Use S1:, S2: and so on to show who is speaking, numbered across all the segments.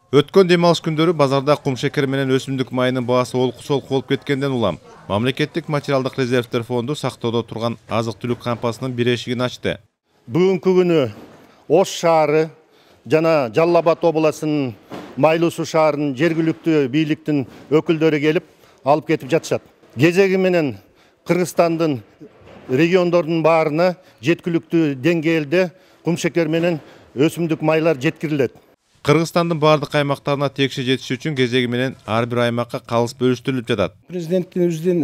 S1: Өткөн дем алыш күндөрү базарда кум шекер менен өсүмдүк майынын баасы олку-солку болуп кеткенден улам Мамлекеттик материалдык резервдер фонду сактоодо турган азык-түлүк кампасынын бир эшигин ачты.
S2: Бүгүнкү күнү Ош шаары жана Жалал Абад областынын Майлуу Суу шаарынын жергиликтүү бийликтин өкүлдөрү келип алып кетип жатышат. Кезеги менен Кыргызстандын региондордун баарына жеткиликтүү деңгээлде кум шекер менен өсүмдүк майлар жеткирилет.
S1: Кыргызстандын бардык аймактарына текше жетиш үчүн кезеги менен ар бир аймакка калыс бөлүштүрүлүп жатат.
S3: Президентибиздин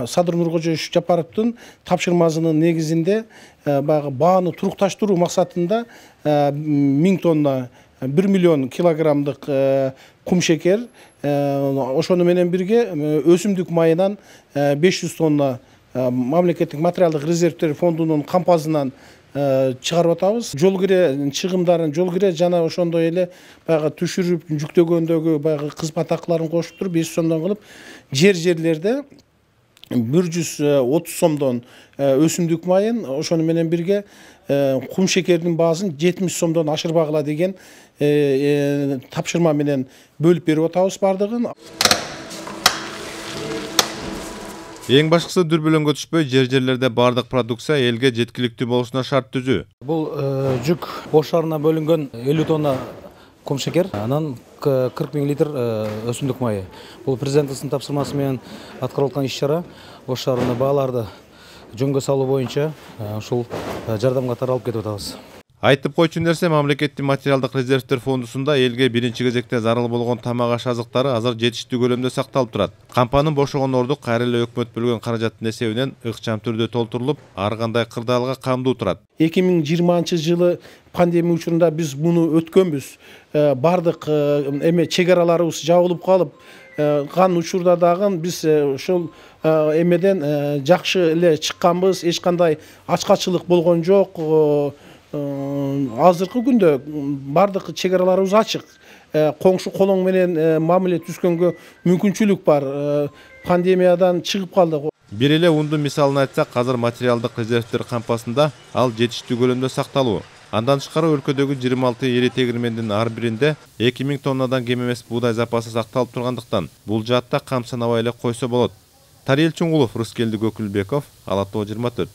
S3: Садыр Нуркожоевич Жапаровдун тапшырмасынын негизинде баягы бааны турукташтыруу максатында 1000 тонна 1 миллион килограммдык кум шекер, ошону менен бирге өсүмдүк майынан 500 тонна Мамлекеттик материалдык резервдер фондунун кампасынан чыгарып атабыз. Жол кире чыгымдарын, жол кире жана ошондой эле баягы түшүрүп жүктөгөндөгү баягы кызмат акыларын кошуп туруп 500 сомдон кылып жерлерде 130 сомдон өсүмдүк майын, ошону менен бирге кум шекердин баасын 70 сомдон ашырбагыла деген тапшырма менен бөлүп берип атабыз бардыгын.
S1: Эң башкысы дүрбөлөңгө түшпөй жерлерде бардык продукция элге жеткиликтүү болушуна шарт түзүү.
S4: Бул жүк Ош шаарына бөлүнгөн 50 тонна кум шекер, анан 40 000 литр өсүмдүк майы. Бул президентибиздин тапшырмасы менен аткарылып аткан иш-чара. Ош шаарында бааларды жөнгө салуу боюнча ушул жардам катары алып кетип атабыз.
S1: Айтып койчу нерсе, Мамлекеттик материалдык резервдер фондусунда элге биринчи кезекте зарыл болгон тамак-аш азыктары азыр жетиштүү көлөмдө сакталып турат. Кампанын бошогон орду кайра эле өкмөт бөлгөн каражаттын эсебинен ыкчам түрдө толтурулуп, ар кандай кырдаалга камдуу турат.
S3: 2020-жылы пандемия учурунда биз муну өткөнбүз. Бардык чек араларыбыз жабылып калып, кан учурда дагы биз ошол эмеден жакшы эле чыкканбыз. Эч кандай ачкачылык болгон жок. Азыркы күндө бардык чек араларыбыз ачык. Коңшу колоң менен мамиле түзгөнгө мүмкүнчүлүк бар. Пандемиядан чыгып калдык.
S1: Бир эле ундун мисалын айтсак, азыр материалдык резервдер кампасында ал жетиштүү көлөмдө сакталуу. Андан тышкары өлкөдөгү 26 эри тегирмендин ар биринде 2000 тоннадан кем эмес буудай запасы сакталып тургандыктан бул жаатта камсынабай эле койсо болот. Тариел Чуңгулов, Рыскелди Көкүлбеков, Ала Тоо 24.